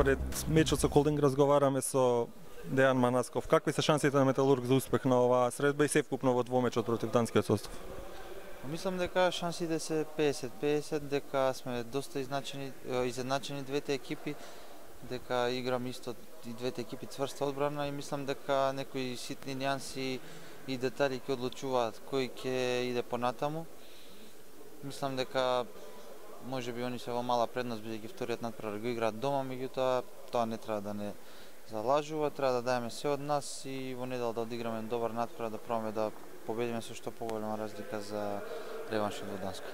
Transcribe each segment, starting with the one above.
Пред мечот со Колдинг разговараме со Дејан Манасков. Какви се шансите на Металург за успех на оваа средба и севкупно во двомечот против данскиот состав? Мислам дека шансите се 50-50, дека сме доста изедначени двете екипи, дека играм исто и двете екипи цврста одбрана и мислам дека некои ситни нијанси и детали ќе одлучуваат кој ќе иде понатаму. Мислам дека можеби они се во мала предност бидејќи вториот натпревар го играат дома, меѓутоа тоа не треба да не залажува, треба да даеме се од нас и во недела да одиграме добар натпревар, да пробаме да победиме со што поголема разлика за реваншот во Данска.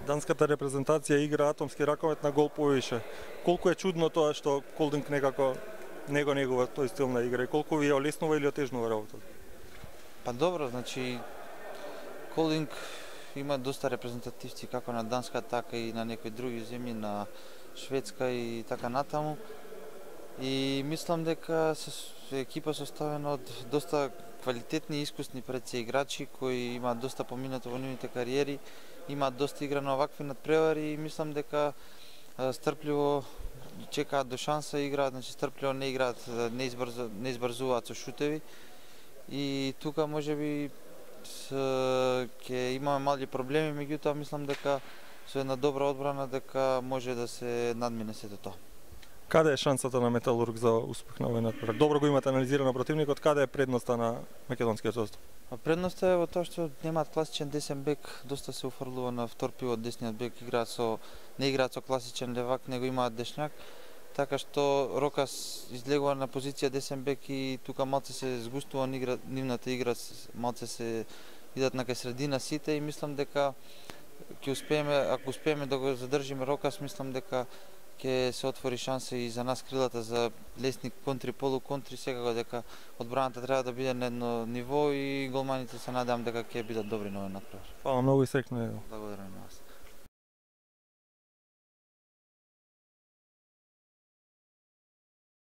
Данската репрезентација игра атомски раковет на гол повише. Колку е чудно тоа што Колдинг некако него негува тој стил на игра и колку ви ја олеснува или отежнува работата? Па добро, значи Колдинг има доста репрезентативци како на Данска, така и на некои други земји, на Шведска и така натаму. И мислам дека екипа составена од доста квалитетни и искусни предсе играчи кои имаат доста поминато во нивните кариери, имаат доста игра на овакви надпревари и мислам дека стрпливо чекаат до шанса, играат, значи стрпливо не играат, не избрзуваат со шутеви. И тука можеби ќе имаме мали проблеми, меѓутоа мислам дека со една добра одбрана дека може да се надмине сето тоа. Каде е шансата на Металург за успех на овој натпревар? Добро го имате анализирано противникот, каде е предноста на македонскиот состав? Предноста е во тоа што немаат класичен десен бек, доста се уфрлува на втор пивот, десниот бек не играат со класичен левак, него имаат дешњак, така што Рокас излегува на позиција десен бек и тука малце се згустува нивната игра, малце се идат на кај средина сите и мислам дека ќе успееме, ако успееме да го задржиме Рокас, мислам дека ќе се отвори шанса и за нас крилата за лесни контри, полуконтри, секако дека одбраната треба да биде на едно ниво и голманите се надевам дека ќе бидат добри на овој натпревар. Фала многу и среќно. Благодарам.